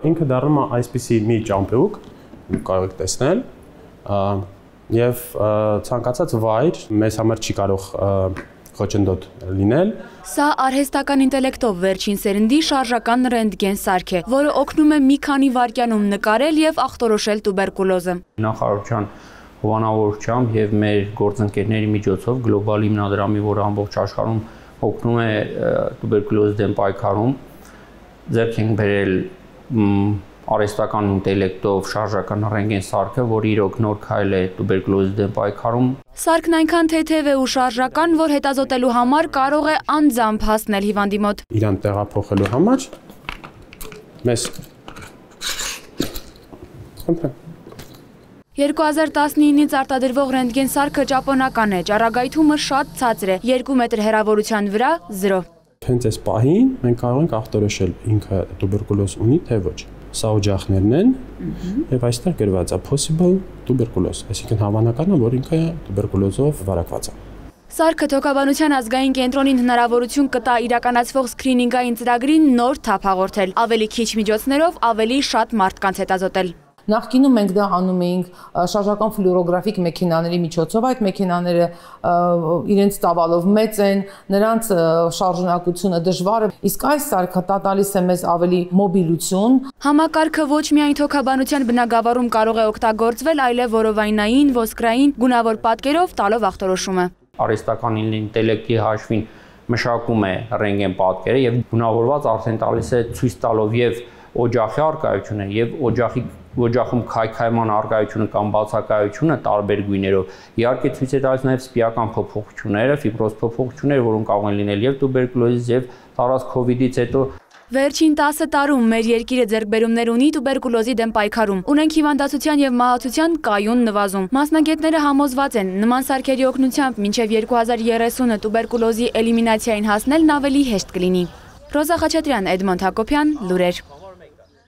Ինքը դառնում է այսպիսի մի ճամպրուկ, կարող եք տեսնել, եւ ցանկացած վայր մեզ համար չի կարող խոչընդոտ լինել։ Սա արհեստական ինտելեկտով վերջին սերնդի շարժական ռենտգեն սարք է, որը օգնում է մի քանի վայրկյանում նկարել եւ ախտորոշել տուբերկուլոզը։ Նախարարության հովանավորությամբ եւ մեր գործընկերների միջոցով գլոբալ հիմնադրամի, որը ամբողջ աշխարհում օգնում է տուբերկուլոզի դեմ պայքարում, ձեռք ենք բերել արհեստական ինտելեկտով շարժական ռենտգեն սարքը, որը իրոք նոր քայլ է տուբերկուլոզի դեմ պայքարում։ Սարքն այնքան թեթև է ու շարժական, որ հետազոտելու համար կարող է անձամբ հասնել հիվանդի մոտ։ Իրան տեղափոխելու համար մեզ 2019-ից արտադրվող ռենտգեն սարքը ճապոնական է, ճառագայթումը շատ ցածր է, 2 մետր հեռավորության վրա 0։ Հենց այս պահին մենք կարող ենք ախտորոշել ինքը տուբերկուլոզ ունի թե ոչ։ Սա օջախներն են եւ այստեղ գրված է possible tuberculosis, այսինքն հավանական է, որ ինքը տուբերկուլոզով վարակված է։ Սարքը Թոքաբանության ազգային կենտրոնին հնարավորություն կտա իրականացվող սկրինինգային ծրագրին նոր թափ հաղորդել, ավելի քիչ միջոցներով ավելի շատ մարդկանց հետազոտել։ Նախկինում մենք դա անում էինք շարժական ֆլուորոգրաֆիկ մեքենաների միջոցով, այդ մեքենաները իրենց ծավալով մեծ են, նրանց շարժունակությունը դժվար է, իսկ այս սարքը տալիս է մեզ ավելի մոբիլություն։ Համակարգը ոչ միայն Թոքաբանության բնագավառում կարող է օգտագործվել, այլև որովայնային, ոսկրային, գունավոր պատկերով տալով ախտորոշումը։ Արհեստական ինտելեկտի հաշվին մշակում է ռենտգեն պատկերը եւ գունավորված արդեն տալիս է ցույց տալով եւ օջախի արկայությունը եւ օջախում քայքայման արկայությունը կամ բացակայությունը տարբեր գույներով։ Իհարկե ցույց է տալիս նաև սպիական փոփոխությունները, ֆիբրոզ փոփոխությունները, որոնք կարող են լինել եւ տուբերկուլոզից եւ տարած COVID-ից հետո։ Վերջին 10 տարում մեր երկիրը ձեռքբերումներ ունի տուբերկուլոզի դեմ պայքարում։ Ունենք հիվանդացության եւ մահացության կայուն նվազում։ Մասնագետները համոզված են, նման սարքերի օգնությամբ մինչեւ 2030-ը տուբերկուլոզի էլիմինացիային հասնելն ավելի հեշտ կլինի։ Ռոզա Խաչատրյան, Էդմոնդ Հակոբյան, լուրեր։